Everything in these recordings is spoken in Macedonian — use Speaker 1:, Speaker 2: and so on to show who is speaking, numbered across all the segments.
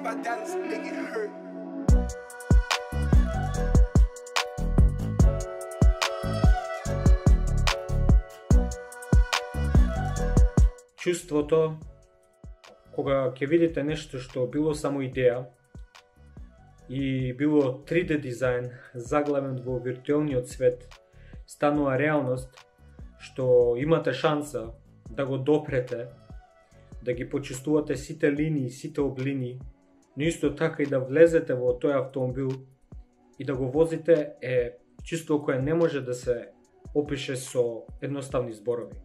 Speaker 1: by Dallas, make it hurt.
Speaker 2: Чувството кога ќе видите нешто што било само идеја и било 3D дизајн заглавен во виртуелниот свет станува реалност, што имате шанса да го допрете, да ги почувствувате сите линии, сите облини, но исто така и да влезете во тој автомобил и да го возите е чувство кое не може да се опише со едноставни зборови.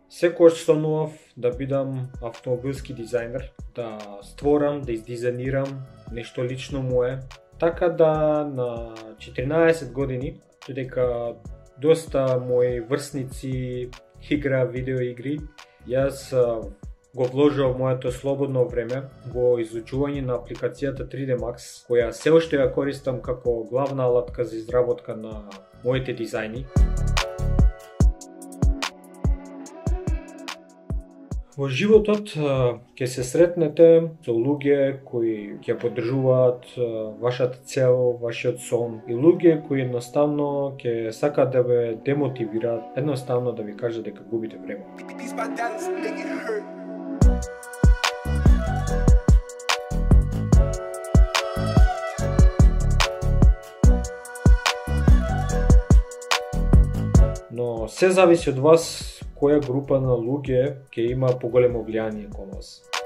Speaker 2: Секогаш сонував да бидам автомобилски дизајнер, да створам, да издизајнирам нешто лично мое. Така да на 14 години, додека доста мои врсници игра видеоигри, јас го вложував моето слободно време во изучување на апликацијата 3D Max, која се уште ја користам како главна алатка за изработка на моите дизајни. Во животот ќе се сретнете со луѓе кои ќе поддржуваат вашата цел, вашиот сон и луѓе кои едноставно ќе сакаат да ве демотивираат, едноставно да ви кажат дека губите време. Но се зависи од вас која група на луѓе ќе има поголемо влијание кон вас.